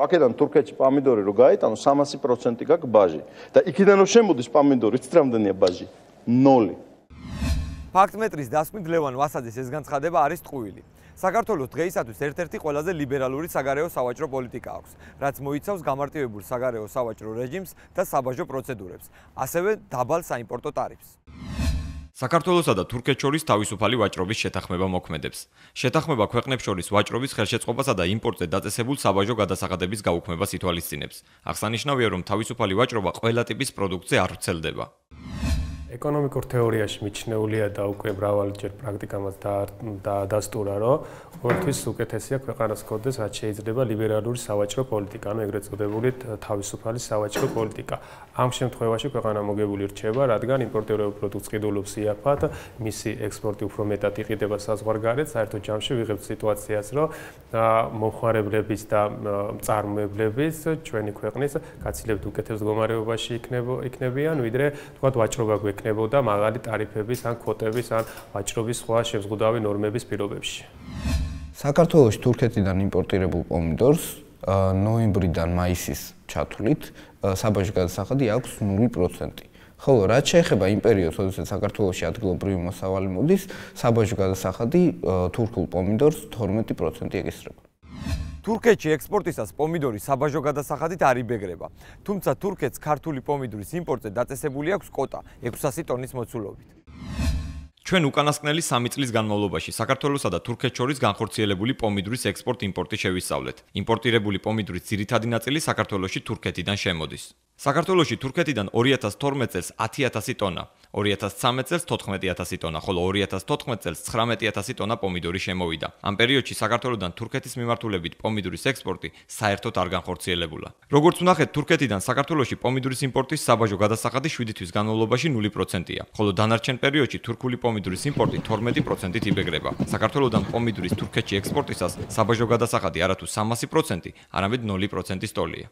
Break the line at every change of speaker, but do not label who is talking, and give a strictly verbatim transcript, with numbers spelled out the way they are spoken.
აქედან თურქეთში პომიდორი რო გაიტანო სამასი პროცენტი გაქვს ბაჟი და იქიდან რო შემოდის პომიდორი, იცით რამდენია ბაჟი? ნოლი.
ფაქტმეტრის დასკვნით ლევან ვასაძის ეს განცხადება არის ტყუილი. საქართველოს დღეისათვის ერთ-ერთი ყველაზე ლიბერალური საგარეო სავაჭრო პოლიტიკა აქვს, რაც მოიცავს გამარტივებულ საგარეო სავაჭრო რეჟიმს და საბაჟო პროცედურებს, ასევე დაბალ საიმპორტო ტარიფს.
საქართველოსა და თურქეთს შორის თავისუფალი ვაჭრობის შეთანხმება მოქმედებს. შეთანხმება ქვეყნებს შორის ვაჭრობის ხელშეწყობასა და იმპორტზე დაწესებულ საბაჟო გადასახადების გაუქმებას ითვალისწინებს. აღსანიშნავია, რომ თავისუფალი ვაჭრობა ყველა ტიპის პროდუქტზე არ ვრცელდება.
ეკონომიკურ თეორიაში მიჩნეულია და უკვე მრავალჯერ პრაქტიკამაც დაადასტურა, რომ ყოველთვის უკეთესია ქვეყანას ჰქონდეს, რაც შეიძლება ლიბერალური სავაჭრო პოლიტიკა, ანუ ეგრეთ წოდებული თავისუფალი სავაჭრო პოლიტიკა. ამ შემთხვევაში ქვეყანა მოგებული რჩება, რადგან იმპორტირებულ პროდუქტს ყიდულობს იაფად, მისი ექსპორტი უფრო მეტად იყიდება საზღვარგარეთ, საერთოდ ჯამში ვიღებთ სიტუაციას, რომ მომხმარებლების და მწარმოებლების ჩვენი ქვეყნის გაცილებით უკეთეს მდგომარეობაში იქნებიან, ვიდრე თქვათ ვაჭრობა გვექნებოდა მაღალი ტარიფების ან კვოტების ან ვაჭრობის სხვა შეზღუდავი ნორმების პირობებში.
საქართველოში თურქეთიდან იმპორტირებულ პომიდორს ნოემბრიდან მაისის ჩათვლით საბაჟო გადასახადი აქვს ნული პროცენტი. ხოლო რაც შეეხება იმ პერიოდს, როდესაც საქართველოში ადგილობრივი მოსავალი მოდის, საბაჟო გადასახადი თურქულ პომიდორს თორმეტი პროცენტი ეკისრება.
თურქეთში ექსპორტისას პომიდორის საბაჟო გადასახადით არ იბეგრება, თუმცა თურქეთს ქართული პომიდორის იმპორტზე დაწესებული აქვს კვოტა ექვსასი ტონის მოცულობით.
ჩვენ უკანასკნელი სამი წლის განმავლობაში საქართველოსა და თურქეთს შორის განხორციელებული პომიდორის ექსპორტ-იმპორტი შევისწავლეთ. იმპორტირებული პომიდორის ძირითადი ნაწილი საქართველოში თურქეთიდან შემოდის. საქართველოში თურქეთიდან ორი ათას თორმეტ წელს ათი ათასი ტონა, ორი ათას ცხრამეტ წელს თოთხმეტი ათასი ტონა, ხოლო ორი ათას თოთხმეტ წელს ცხრამეტი ათასი ტონა პომიდორი შემოვიდა. ამ პერიოდში საქართველოსდან თურქეთის მიმართულებით პომიდორის ექსპორტი საერთოდ არ განხორციელებულა. როგორც ვნახეთ, თურქეთიდან საქართველოში პომიდორის იმპორტის საბაჟო გადასახადი შვიდი თვის განმავლობაში ნული პროცენტია, ხოლო დანარჩენ პერიოდში თურქული პომიდორის იმპორტი თორმეტი პროცენტით იბეგრება. საქართველოსდან პომიდორის თურქეთში ექსპორტისას საბაჟო გადასახადი არა თუ სამასი პროცენტი, არამედ ნული პროცენტის ტოლია.